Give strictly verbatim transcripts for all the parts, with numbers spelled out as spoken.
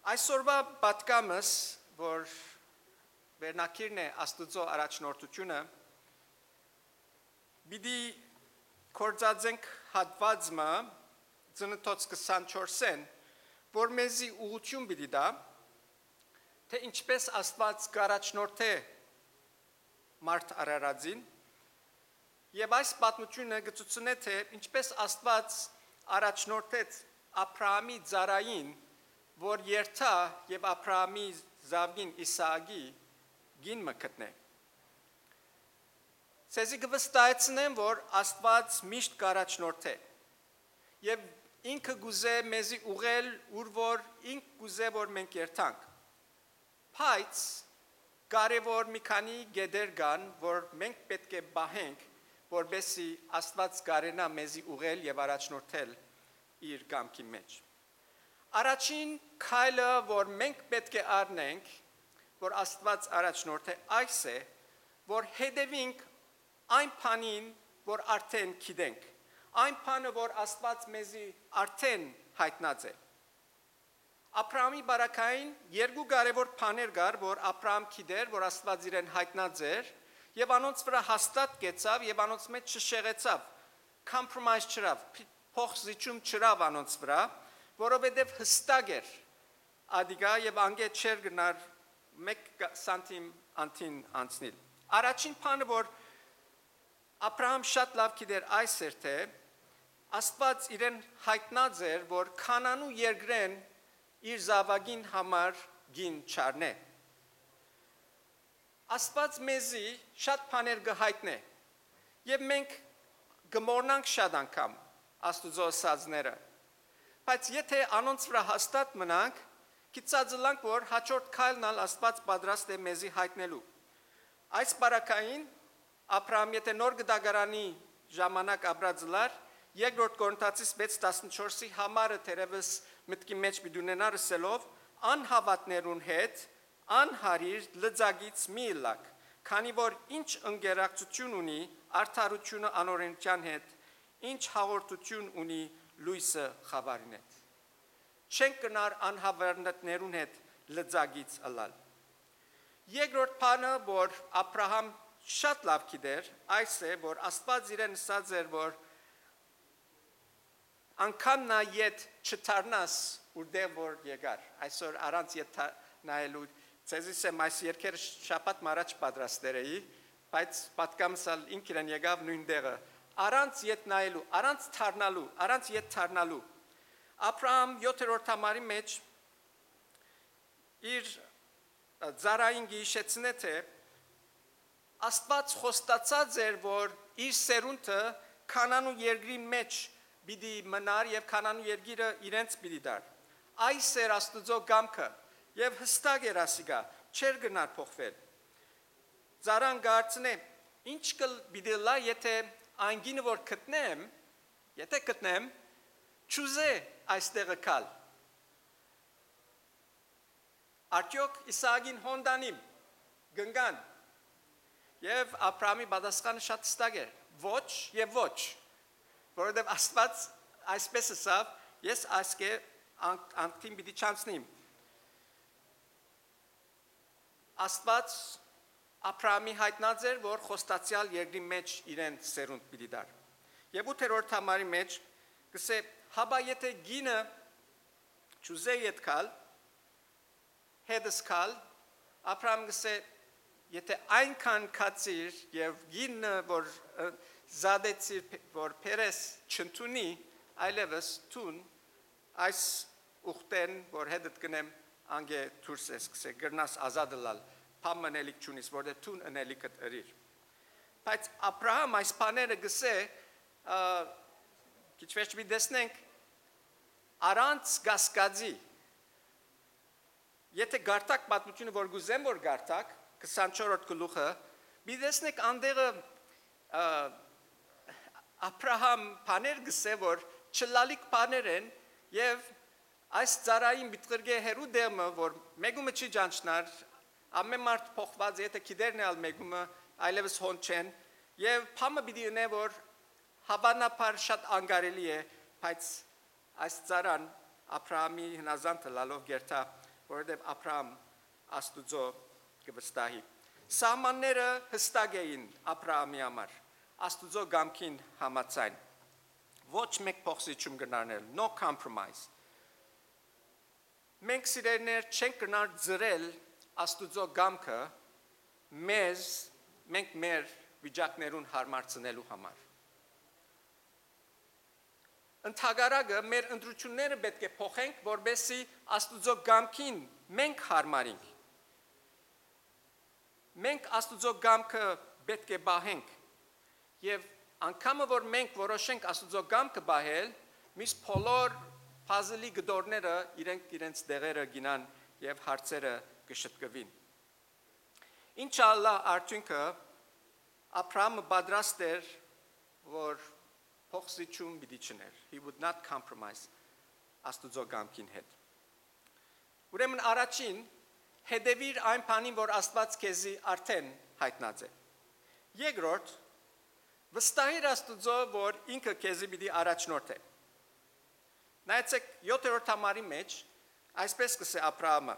Այսօրվա պատգամս, որ վերնագիրն է Աստուծոյ առաջնորդութիւնը, պիտի գործածենք հատուած մը, Ծննդոց քսանչորսէն, որ մեզի ուղղութիւն պիտի տայ, թէ ինչպէս Աստուած կ'առաջնորդէ մարդ արարածին, եւ այս պատմութիւնը կը ցուցնէ, թէ ինչպէս Աստուած առաջնորդեց Աբրահամի ծառային, որ երթայ եւ Աբրահամի զաւկին Իսահակի կին մը գտնէ։ Ձեզի կը վստահեցնեմ, որ Աստուած միշտ կ'առաջնորդէ եւ ինքը կ'ուզէ մեզի ուղղել, ուր որ ինք կ'ուզէ, որ մենք երթանք։ Բայց կարեւոր մի քանի կետեր կան, որ մենք պէտք է պահենք, որպեսզի Աստուած կարենայ մեզի ուղղել եւ առաջնորդել իր կամքի մէջ։ Առաջին քայլը, որ մենք պէտք է առնենք, որ Աստուած առաջնորդէ, այս է, որ հետեւինք այն բանին, որ արդէն գիտենք, այն բանը, որ Աստուած մեզի արդէն յայտնած է։ Աբրահամի պարագային երկու կարեւոր բաներ կար, որ Աբրահամ գիտէր, որ Աստուած իրեն յայտնած էր, եւ անոնց վրայ հաստատ կեցաւ եւ անոնց մէջ չշեղեցաւ, compromise չըրաւ, փ-, փոխզիջում չըրաւ անոնց վրայ, որովհետեւ յստակ էր ատիկա եւ անգէ չէր կրնար մէկ գ-, սանթիմ անդին անցնիլ։ Առաջին բանը, որ Աբրահամ շատ լաւ գիտեր, այս էր, թէ Աստուած իրեն յայտնած էր, որ Քանանու երկրէն իր զաւակին համար կին չառնէ։ Աստուած մեզի շատ բաներ կը յայտնէ եւ մենք կը մոռնանք շատ անգամ Աստուծոյ ըսածները։ Բայց եթէ անոնց վրայ հաստատ մնանք, գիտած ըլանք, որ հաջորդ քայլն ալ Աստուած պատրաստ է մեզի յայտնելու։ Այս պարագային Աբրահամ եթէ նոր կտակարանի ժամանակ ապրած ըլար, երկրորդ Կորինթացիս վեց տասնչորսի համարը թերեւս մտքի մէջ պիտի ունենար ըսելով. «Անհաւատներուն հետ անհարիր լծակից մի ըլլաք, քանի որ ինչ ընկերակցութիւն ունի արդարութիւնը անօրէնութեան հետ, ինչ հաղորդութիւն ունի լոյսը խաւարին հետ»։ Չենք կրնար անհաւատներուն հետ լծակից ըլլալ։ Երկրորդ բանը, որ Աբրահամ շատ լաւ գիտեր, այս է, որ Աստուած իրեն ըսած էր, որ անգամ նայ ետ չդառնաս, ուրդեղ որ եկար։ Այսօր առանց ետ թա-, նայելու, ձեզի սեմ այս երկերը շաբաթ մը առաջ պատրաստեր էի, բայց պատկամս ալ ինք իրեն եկաւ նոյն տեղը։ Առանց ետ նայելու, առանց դառնալու, առանց ետ դառնալու։ Աբրահամ յոթերորդ համարի մէջ իր, ը, ծառային կը յիշեցնէ, թէ Աստուած խոստացած էր, որ իր սերունդը Քանանու երկրին մէջ պիտի մնար եւ Քանանու երկիրը իրենց պիտի տար։ Այս էր Աստուծոյ կամքը եւ յստակ էր ասիկա, չէր գնար փոխվել։ Ծառան կ'արցնէ. «Ինչ կը պիտի ըլլայ, եթէ այն կինը որ գտնեմ, եթէ գտնեմ, չուզէ այստեղը գալ»։ Արդյոք Իսահակին հոն տանիմ, կ'ընկան։ Եւ Աբրահամի պատասխանը շատ հստակ էր. «Ոչ եւ ոչ, որովհետեւ Աստուած այսպես ըսաւ. "Ես ասկէ ան-, անկդին պիտի չանցնիմ"»։ Աստուած Աբրահամի յայտնած էր, որ խոստացեալ երկրի մէջ իրեն սերունդ պիտի տար։ Եւ ութերորդ համարի մէջ կ'ըսէ. «Հապա եթէ կինը չուզէ ետ գալ, հետս գալ», Աբրահամ կ'ըսէ. «Եթէ այնքան քացիր եւ կինը, որ, ը, զատեցիր, փ-, որ բերես, չընդունի, այլեւս դուն այս ուխտէն, որ հետդ կ'ընեմ, անգէ դուրս ես, կ'ըսէ, կրնաս ազատ ըլլալ, բան մը ընելիք չունիս, որտեղ դուն ընելիքդ ըրիր»։ Բայց Աբրահամ այս բաները կ'ըսէ, ը, քիչ վերջ պիտի տեսնենք, առանց կասկածի, եթէ կարդաք պատմութիւնը, որ կ'ուզեմ որ կարդաք, քսանչորսերորդ գլուխը, պիտի տեսնեք անդեղը, ը, Աբրահամ բաներ կ'ըսէ, որ չլալիք բաներ են, եւ այս ծառային պիտի ղրկէ հեռու տեղ մը, որ մեկումը չի ճանչնար, ամեն մարդ փոխուած է, եթէ գիտերն է ալ մեկումը, այլեւս հոն չեն, եւ բան մը պիտի ընէ, որ հաւանաբար շատ անկարելի է, բայց այս ծառան Աբրահամի հնազանդը լալով կերթայ որովհետեւ Աբրահամ Աստուծոյ կը վստահի։ Սահմանները յստակ էին Աբրահամի համար, Աստուծոյ կամքին համաձայն։ Ոչ մէկ փոխզիջում կրնար ըլլալ, no compromise։ Մենք, սիրելիներ, չենք կրնար ծռել Աստուծոյ կամքը մեզ, մենք մեր վիճակներուն յարմարցնելու համար։ Ընդհակառակը, մեր ընտրութիւնները պէտք է փոխենք, որպէսզի Աստուծոյ կամքին մենք յարմարինք։ Մենք Աստուծոյ կամքը պէտք է պահենք, եւ անկամը որ մենք որոշենք Աստուծոյ կամքը պահել, միս բոլոր փազլի կտորները իրենք իրենց տեղերը կ'իյնան եւ հարցերը կը շտկուին։ Ինչ ալ ըլլայ արդիւնքը, Աբրահամը պատրաստ էր, որ փոխզիջում պիտի չընէր։ He would not compromise Աստուծոյ կամքին հետ։ Ուրեմն առաջին, հետեւիր այն բանին, որ Աստուած քեզի արդէն յայտնած է։ Երկրորդ, վստահիր Աստուծոյ, որ ինքը քեզի պիտի առաջնորդէ։ Նայեցէք, յոթերորդ համարի մէջ այսպէս կ'ըսէ Աբրահամը.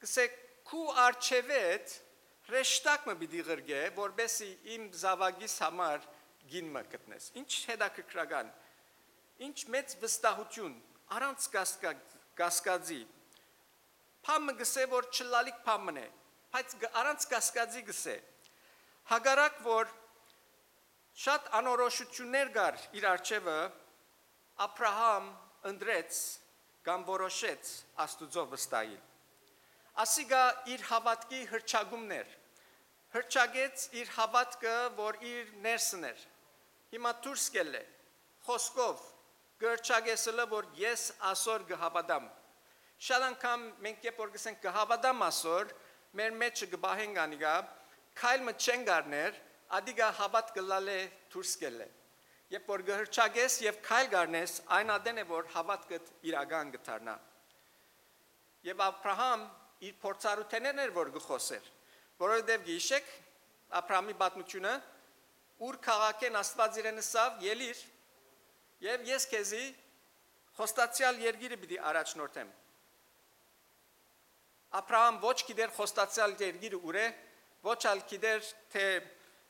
կ'ըսէ, քու առջեւէդ հրեշտակ մը պիտի ղրկէ, որպէսզի իմ զաւակիս համար կին մը գտնես։ Ինչ հետաքրքրական, ինչ մեծ վստահութիւն, առանց կասկա-, կասկածի։ Բան մը կ'ըսէ, որ չլալիք բան մըն է, բայց գ-, առանց կասկածի կ'ըսէ։ Հակառակ որ շատ անորոշութիւններ կար իր առջեւը, Աբրահամ ընտրեց կամ որոշեց Աստուծոյ վստահիլ։ Ասիկա իր հաւատքի հռչակումն էր, հռչակեց իր հաւատքը, որ իր ներսն էր, հիմա դուրս կ'ելլէ, խօսքով, կը հռչակես ըլը, որ ես ասոր կը հաւատամ։ Շատ անգամ մենք, երբ որ կ'ըսենք կը հաւատամ ասոր, մեր մէջը կը պահենք անիկա, քայլ մը չենք առներ, ատիկա հաւատքը ըլլալէ դուրս կ'ելլէ։ Երբ որ կը հռչակես եւ քայլ կ'առնես, այն ատեն է, որ հաւատքդ իրական կը դառնայ։ Եւ Աբրահամ իր փորձառութեներն էր, որ կը խօսէր, որովհետեւ գիշեք Աբրահամի պատմութիւնը, ուր քաղաքէն Աստուած իրեն ըսաւ. «Ելի՛ր, եւ ես քեզի խոստացեալ երկիրը պիտի առաջնորդեմ»։ Աբրահամ ոչ գիտեր խոստացեալ երկիրը ուր է, ոչ ալ գիտեր, թէ,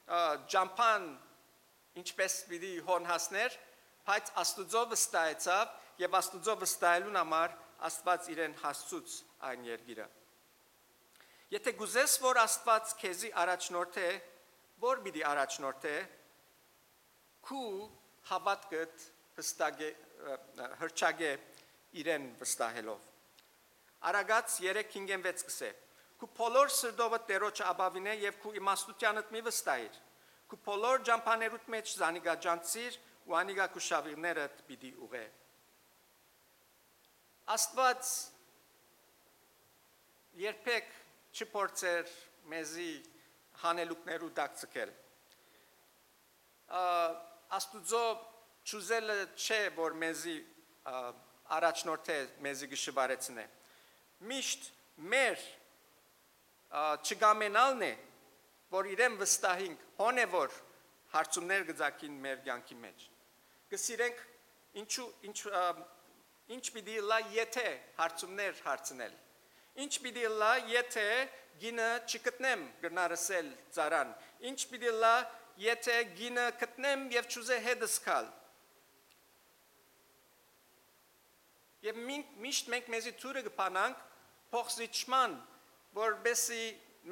ա, ճամբան ինչպէս պիտի հոն հասներ, բայց Աստուծոյ վստահեցաւ եւ Աստուծոյ վստահելուն համար Աստուած իրեն հասցուց այն երկիրը։ Եթէ կ'ուզես, որ Աստուած քեզի առաջնորդէ, ո՞ր պիտի առաջնորդէ, քու հաւատքդ յստակէ, ը, ը, հռչակէ իրեն վստահելով։ Արագած երեք հինգ վեց կ'ըսէ. «Քու բոլոր սրտովդ Տէրոջը ապաւինէ եւ քու իմաստութեանդ մի վստահիր։ Քու բոլոր ճամբաներուդ մէջ զանիկա ճանչցիր ու անիկա քու շաւիղներդ պիտի ուղղէ»։ Աստուած երբեք չփորձեր մեզի հանելուկներու տակ ձգել։ Ա, Աստուծոյ չուզելը չէ, որ մեզի, ա, առաջնորդէ, մեզի կը շուարեցնէ։ Միշտ մեր, ա, չկամենալն է, որ իրեն վստահինք, հոն է, որ հարցումներ կը ծագին մեր կեանքի մէջ։ Կը սիրենք ինչու, ինչ, ա, ինչ պիտի ըլլայ, եթէ հարցումներ հարցնել։ Ինչ պիտի ըլլայ, եթէ կինը չգտնեմ, կրնար ըսել ծառան։ Ինչ պիտի ըլլայ, եթէ կինը գտնեմ եւ չուզէ հետս գալ։ Եւ մին-, միշտ մենք մեզի դուռը կը բանանք փոխզիջման, որպեսզի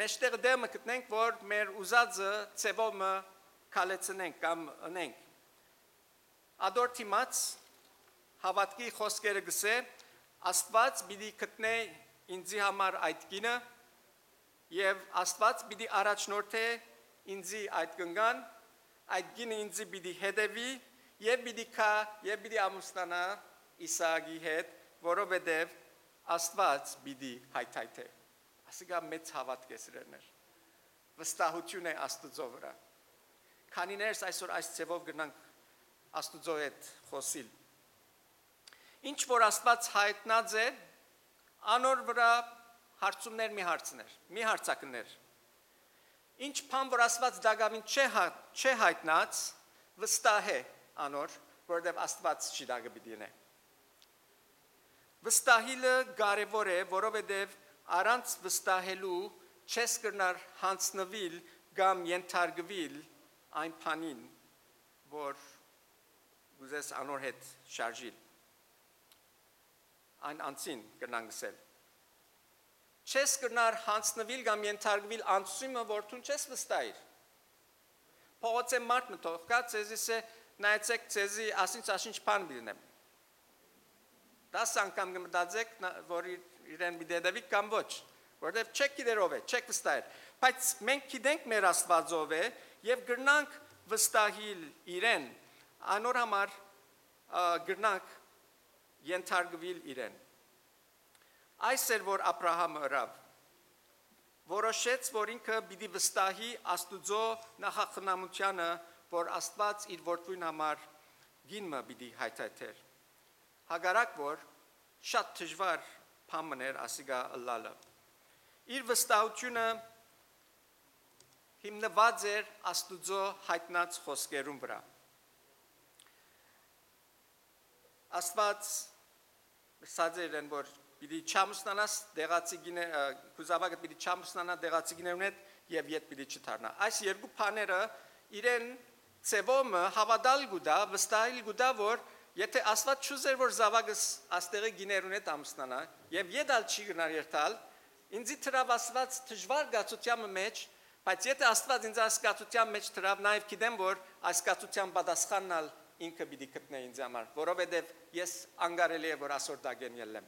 մեջտեղը տեղ մը գտնենք, որ մեր ուզածը ձևով մը քալեցնենք կամ ընենք։ Ատոր դիմաց հաւատքի խօսքերը կ'ըսէ. «Աստուած պիտի գտնէ ինծի համար այդ կինը, եւ Աստուած պիտի առաջնորդէ ինծի այդ կնկան, այդ կինը ինծի պիտի հետեւի, եւ պիտի գայ, եւ պիտի ամուսնանայ Իսահակի հետ, որովհետեւ Աստուած պիտի հայթայթէ»։ Ասիկա մեծ հաւատք է, սիրելիներ։ Վստահութիւն է Աստուծոյ վրայ։ Քանիներս այսօր այս ձևով կրնանք Աստուծոյ հետ խօսիլ։ Ինչ որ Աստուած հայտնած է, անոր վրայ հարցումներ մի հարցներ, մի հարցակներ։ Ինչ բան որ Աստուած տակաւին չէ հա-, չէ հայտնած, վստահ է անոր, որովհետեւ Աստուած չի տակը պիտի ընէ։ Վստահիլը կարեւոր է, որովհետեւ առանց վստահելու չես կրնար յանձնուիլ կամ ենթարկուիլ այն բանին, որ կ'ուզես անոր հետ շարժիլ, այն անձին կրնանք ըսել։ Չես կրնար յանձնուիլ կամ ենթարկուիլ անձի մը, որ դուն չես վստահիր։ Փողոցէն մարդ մը թողկայ, ձեզի ըսէ, նայեցէք, ձեզի ասինչ-ասինչ բան պիտի ընեմ։ Տաս անգամ կը մտածէք, որ իրեն պիտի հետեւիք կամ ոչ, որովհետեւ չեք գիտեր ով է, չեք վստահեր։ Բայց մենք գիտենք մեր Աստուածը ով է եւ կրնանք վստահիլ իրեն, անոր համար կրնանք ենթարկուիլ իրեն։ Այս էր, որ Աբրահամը ըրաւ։ Որոշեց, որ ինքը պիտի վստահի Աստուծոյ նախախնամութեանը, որ Աստուած իր որդւոյն համար կին մը պիտի հայթայթէր։ Հակառակ որ շատ դժուար բան մըն էր ասիկա ըլլալը։ Իր վստահութիւնը հիմնուած էր Աստուծոյ յայտնած խօսքերուն վրայ։ Աստուած ըսած էր իրեն, որ պիտի չամուսնանաս դեղացի գինե-, ը, քու զաւակը պիտի չամուսնանա դեղացի գիներուն հետ եւ ետ պիտի չդառնայ։ Այս երկու բաները իրեն ձեւով մը հաւատալ կու տայ, վստահիլ կու տայ, որ եթէ Աստուած չուզեր, որ զաւակս աստեղի գիներուն հետ ամուսնանայ եւ ետ ալ չի կրնար երթալ, ինծի դրաւ Աստուած դժուար կացութեան մը մէջ, բայց եթէ Աստուած ինձ այս կացութեան մէջ դրաւ, նաեւ գիտեմ, որ այս կացութեան պատասխանն ալ ինքը պիտի գտնէ ինձ համար, որովհետեւ ես անկարելի է, որ ասոր տակէն ելլեմ։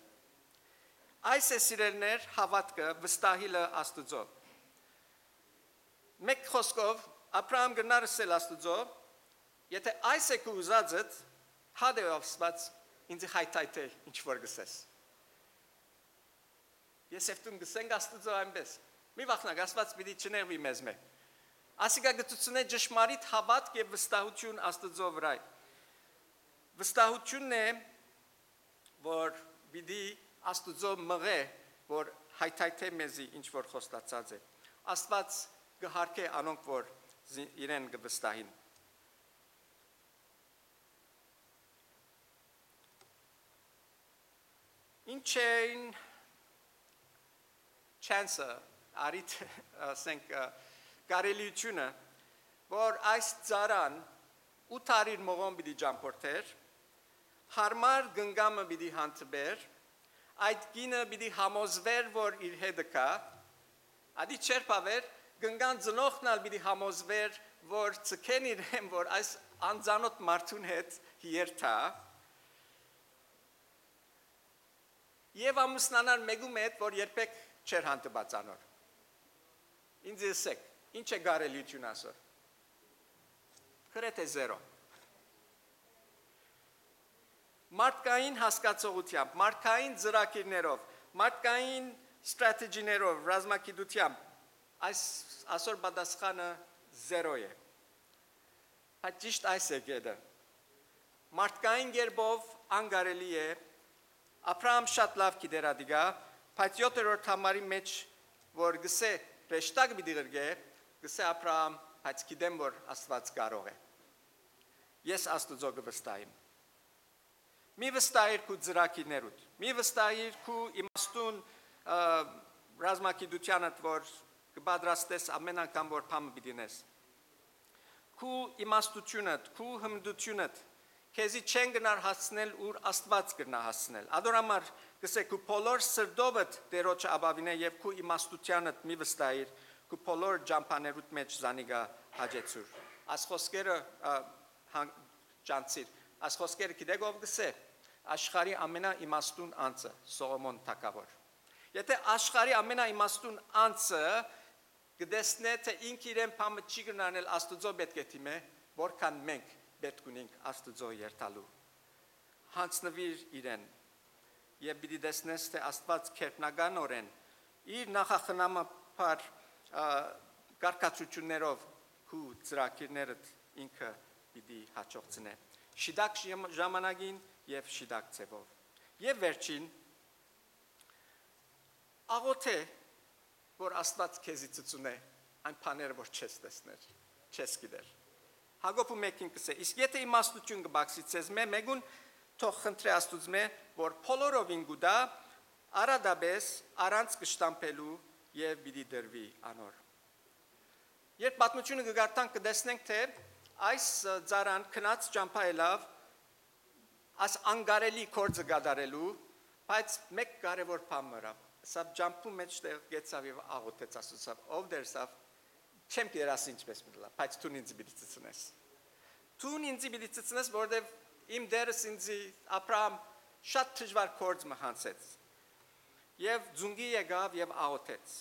Այս է, սիրելիներ, հաւատքը, վստահիլը Աստուծոյ։ Մէկ խօսքով, Աբրահամ կրնար ըսել Աստուծոյ, եթէ այս է քու ուզածդ, հա դե Աստուած, ինձի հայթայթէ ինչ որ կ'ըսես։ Ես եւ դուն կ'ըսենք Աստուծոյ այնպէս։ Մի վախնաք, Աստուած պիտի չնեղուի մեզմէ։ Ասիկա կը ցուցնէ ճշմարիտ հաւատք եւ վստահութիւն Աստուծոյ վրայ։ Վստահութիւնն է, որ պիտի Աստուծոյ մղէ, որ հայթայթէ մեզի ինչ որ խոստացած է։ Աստուած կը յարգէ անոնք, որ զի-, իրեն կը վստահին։ Ինչ էին chance-ը, արիթ, ասենք, ը, կարելիությունը, որ այս ծառան ութ արիր մողոն պիտի ճամփորդէր, յարմար կնկամը պիտի հանդիպէր, այդ կինը պիտի համոզվէր, որ իր հետը կայ, ատի չերբաւեր, կնկան ծնողքն ալ պիտի համոզվէր, որ ցկեն իրեն, որ այս անծանոթ մարդուն հետ երթայ, եւ ամուսնանար մէկու մը հետ, որ երբեք չէր հանդիպած անոր։ Ինձ ըսեք, ինչ է կարելիություն ասոր։ Գրեթե զերո։ Մարդկային հասկացողությամբ, մարդկային ծրագիրներով, մարդկային strategy-ներով, ռազմագիտությամբ այս, ասոր պատասխանը զերո է։ Բայց ճիշտ այս է կետը։ Մարդկային կերպով անկարելի է։ Աբրահամ շատ լաւ գիտեր ատիկա, բայց յոթերորդ համարի մէջ, որ գսե, հրեշտակ պիտի ղրկէ, գսե Աբրահամ, բայց գիտեմ, որ Աստուած կարող է։ Ես Աստուծոյ կը վստահիմ։ Մի վստահիր քու ծրագիրներուդ, մի վստահիր քու իմաստուն, ը, ռազմագիտութեանդ, որ կը պատրաստես ամեն անգամ, որ բան մը պիտի ընես։ Քու իմաստությունդ, քու հմտությունդ քեզի չեն գնար հասցնել, ուր Աստուած կրնայ հասցնել։ Ադոր համար կսե, քու բոլոր սրտովդ Տէրոջը ապաւինէ եւ քու իմաստութեանդ մի վստահիր, քու բոլոր ճամբաներուդ մէջ զանիկա հաճեցուր։ Այս խօսքերը, ը, հան-, ճանցիր։ Այս խօսքերը գիտեք ով կսե։ Աշխարհի ամենաիմաստուն անձը, Սողոմոն թագաւոր։ Եթէ աշխարհի ամենաիմաստուն անձը կտեսնէ, թէ ինք իրեն բան մը չի կրնար անել, Աստուծոյ պէտք է դիմէ, որքան մենք պէտք ունենք Աստուծոյ երթալու։ Յանձնուիր իրեն եւ պիտի տեսնես, թէ Աստուած քերբնականօրէն իր նախախնամաբար, ա, կարգադրություններով քու ծրագիրներդ ինքը պիտի հաջողցնէ։ Շիտակ ժամ-, ժամանակին եւ շիտակ ձեւով։ Եւ վերջին, աղոթե, որ Աստուած քեզի ցուցունէ այն բաները, որ չես տեսներ, չես գիտեր։ Հակոբը մէկին կսե, իսկ եթէ իմաստություն կը բացի ձեզմէ մէ-, մէկուն, թող խնդրէ Աստուծմէ, որ բոլորովին կու տայ, առատապէս, առանց կշտամբելու, եւ պիտի տրուի անոր։ Երբ պատմութիւնը կը կարդանք, կը տեսնենք թէ այս ծառան գնաց ճամբայ ելաւ այս անկարելի գործը կատարելու, բայց մէկ կարեւոր բան մը ըրաւ։ Սա ճամբու մէջ տեղ գեցաւ եւ աղօթեց, ասացաւ. «Ով Տէր, սա չեմ գիտեր ասի ինչպես պիտի լա, բայց դուն ինձ պիտի ցցնես։ Դուն ինձ պիտի ցցնես, որտեւ իմ Տէրս ինձի Աբրահամ շատ դժուար գործ մը յանցեց»։ Եւ ծունկի եկաւ եւ աղօթեց։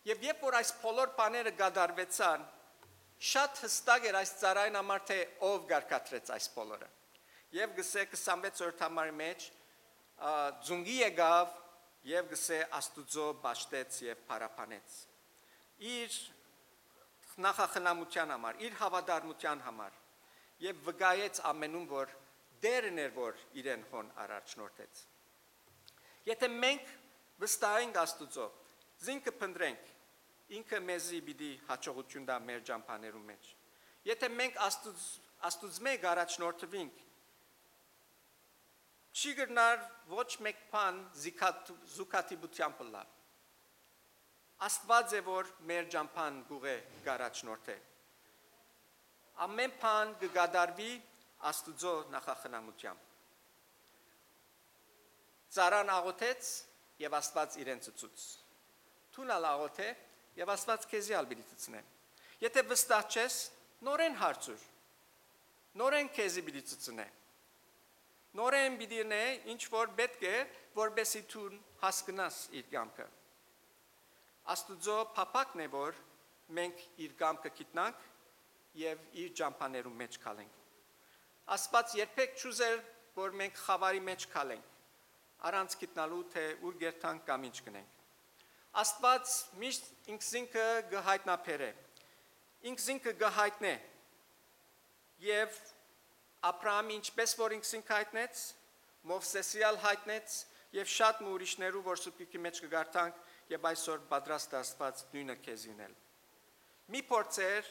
Եւ երբ որ այս բոլոր բաները կատարուեցան, շատ յստակ էր այս ծառային համար թէ ով կարգադրեց այս բոլորը։ Եւ գսէ քսանվեց օրդամարի մէջ, ա, ծունկի եկաւ եւ գսէ Աստուծոյ պաշտեց եւ փառաբանեց իր նախախնամութեան համար, իր հաւատարմութեան համար, եւ վկայեց ամենում, որ Տէրն էր, որ իրեն հոն առաջնորդեց։ Եթէ մենք վստահենք Աստուծոյ, զինքը փնտռենք, ինքը մեզի պիտի յաջողութիւն տայ մեր ճամբաներուն մէջ։ Եթէ մենք Աստուծ-, Աստուծմէ կ'առաջնորդուինք, չի կրնար ոչ մէկ բան զիքաթ-, զուգադիպութեամբ ըլլալ։ Աստուած է, որ մեր ճամբան կ'ուղղէ, կ'առաջնորդէ։ Ամէն բան կը կատարուի Աստուծոյ նախախնամութեամբ։ Ծառան աղօթեց եւ Աստուած իրեն ցցուց։ Դուն ալ աղօթէ եւ Աստուած քեզի ալ պիտի ցցնէ։ Եթէ վստահ չես, նորէն հարցուր։ Նորէն քեզի պիտի ցցնէ։ Նորէն պիտի ընէ ինչ որ պէտք է, որպեսզի դուն հասկնաս իր կամքը։ Աստուծոյ փափաքն է, որ մենք իր կամքը գիտնանք եւ իր ճամբաներուն մէջ քալենք։ Աստուած երբեք չուզեր, որ մենք խաւարի մէջ քալենք, առանց գիտնալու թէ ուր կ'երթանք կամ ինչ կ'ընենք։ Աստուած միշտ ինքզինքը կը յայտնաբերէ, ինքզինքը կը յայտնէ, եւ Աբրահամի ինչպես որ ինքզինքը յայտնեց, Մովսէսի ալ յայտնեց, եւ շատ մը ուրիշներու, որ Սուրբ Գիրքի մէջ կը կարդանք, եւ այսօր պատրաստ է Աստուած նոյնը քեզի ընել։ Մի փորձեր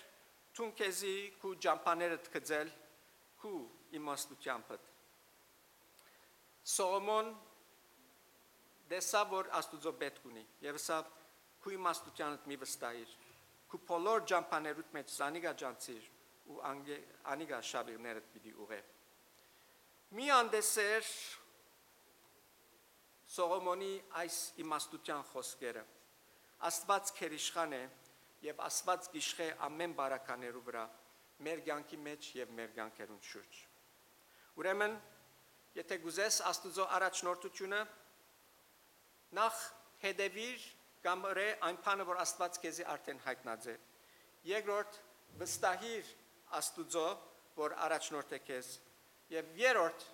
դուն քեզի քու ճամբաներդ գծել քու իմաստութեամբդ։ Սողոմոն տեսաւ, որ Աստուծոյ պէտք ունի, եւ ըսաւ. «Քու իմաստութեանդ մի վստահիր, քու բոլոր ճամբաներուդ մէջ զանիկա ճանչցիր ու անգե-, անիկա շաւիղներդ պիտի ուղղէ»։ Մի անտեսեր Սողոմոնի այս իմաստութեան խօսքերը։ Աստուած գերիշխան է եւ Աստուած կ'իշխէ ամէն բարականերու վրայ, մեր կեանքի մէջ եւ մեր կեանքերուն շուրջ։ Ուրեմն, եթէ կ'ուզես Աստուծոյ առաջնորդութիւնը, նախ հետեւիր կամ ըրէ այն բանը, որ Աստուած քեզի արդէն յայտնած է։ Երկրորդ, վստահիր Աստուծոյ, որ առաջնորդ է քեզ, եւ երրորդ,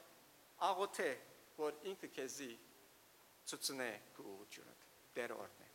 աղօթէ, որ ինքը քեզի ցուցնէ քու ուղղութիւնդ, Տէրը օրհնէ։